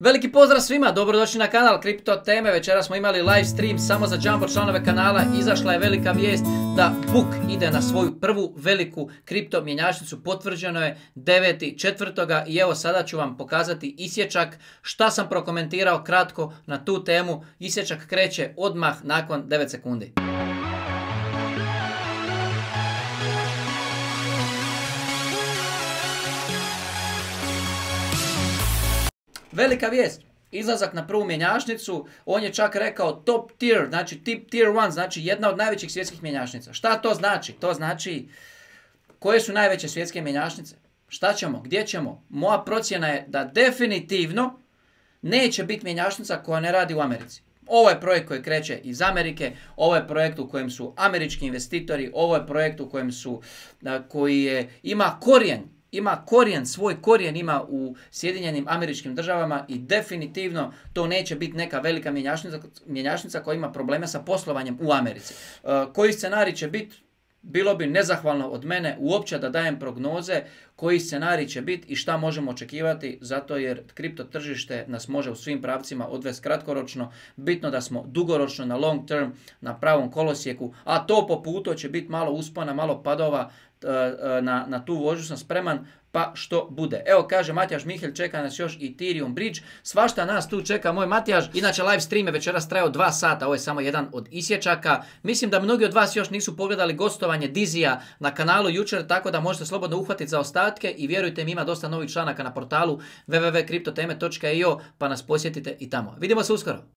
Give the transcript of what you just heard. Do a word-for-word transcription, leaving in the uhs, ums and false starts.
Veliki pozdrav svima, dobrodošli na kanal Kripto teme. Večera smo imali live stream samo za Jumbo članove kanala. Izašla je velika vijest da Buk ide na svoju prvu veliku kripto mjenjačnicu. Potvrđeno je deveti četvrtog i evo sada ću vam pokazati isječak šta sam prokomentirao kratko na tu temu. Isječak kreće odmah nakon devet sekundi. Velika vijest, izlazak na prvu mjenjačnicu, on je čak rekao top tier, znači tip tier one, znači jedna od najvećih svjetskih mjenjačnica. Šta to znači? To znači koje su najveće svjetske mjenjačnice? Šta ćemo? Gdje ćemo? Moja procjena je da definitivno neće biti mjenjačnica koja ne radi u Americi. Ovo je projekt koji kreće iz Amerike, ovo je projekt u kojem su američki investitori, ovo je projekt u kojem su, koji je, ima korijen, ima korijen, svoj korijen ima u Sjedinjenim Američkim Državama i definitivno to neće biti neka velika mjenjačnica, mjenjačnica koja ima probleme sa poslovanjem u Americi. Uh, koji scenarij će biti? Bilo bi nezahvalno od mene uopće da dajem prognoze koji scenarij će biti i šta možemo očekivati, zato jer kripto tržište nas može u svim pravcima odvesti kratkoročno. Bitno da smo dugoročno na long term, na pravom kolosijeku, a to po putu će biti malo uspona, malo padova. Na, na tu vožnju sam spreman, pa što bude. Evo kaže Matijaš Mihelj, čeka nas još Ethereum Bridge. Svašta nas tu čeka moj Matijaš. Inače live stream je večeras trajao dva sata, ovo je samo jedan od isječaka. Mislim da mnogi od vas još nisu pogledali gostovanje Dizija na kanalu jučer, tako da možete slobodno uhvatiti za ostatke i vjerujte mi, ima dosta novih članaka na portalu w w w točka kriptoteme točka i o, pa nas posjetite i tamo. Vidimo se uskoro.